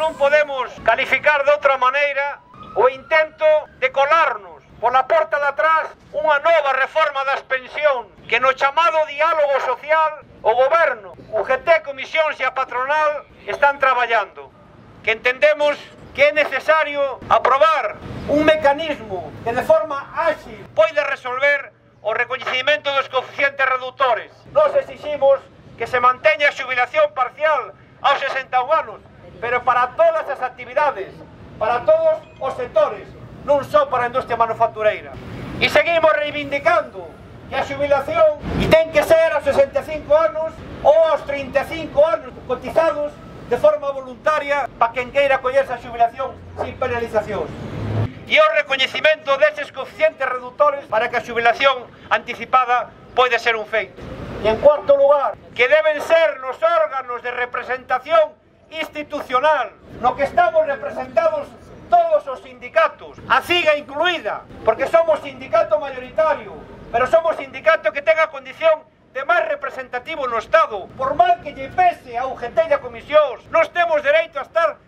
non podemos calificar de outra maneira o intento de colarnos pola porta de atrás unha nova reforma das pensións que no chamado diálogo social o goberno, UGT, comisións e a patronal están traballando, que entendemos que é necesario aprobar un mecanismo que de forma áxil pode resolver o recoñecimento dos coeficientes reductores. Nos exiximos que se manteña a xubilación parcial aos 61 anos, pero para todas as actividades, para todos os sectores, non só para a industria manufactureira. E seguimos reivindicando que a xubilación ten que ser aos 65 anos ou aos 35 anos cotizados de forma voluntaria para quen queira collerse a xubilación sin penalizacións. E o recoñecimento deses coeficientes reductores para que a xubilación anticipada pode ser un feito. E en cuarto lugar, que deben ser nos órganos de representación institucional, no que estamos representados todos os sindicatos, a CIGA incluída, porque somos sindicato mayoritario, pero somos sindicato que ten a condición de máis representativo no Estado. Por mal que lle pese a UGT e a comisións, nós temos dereito a estar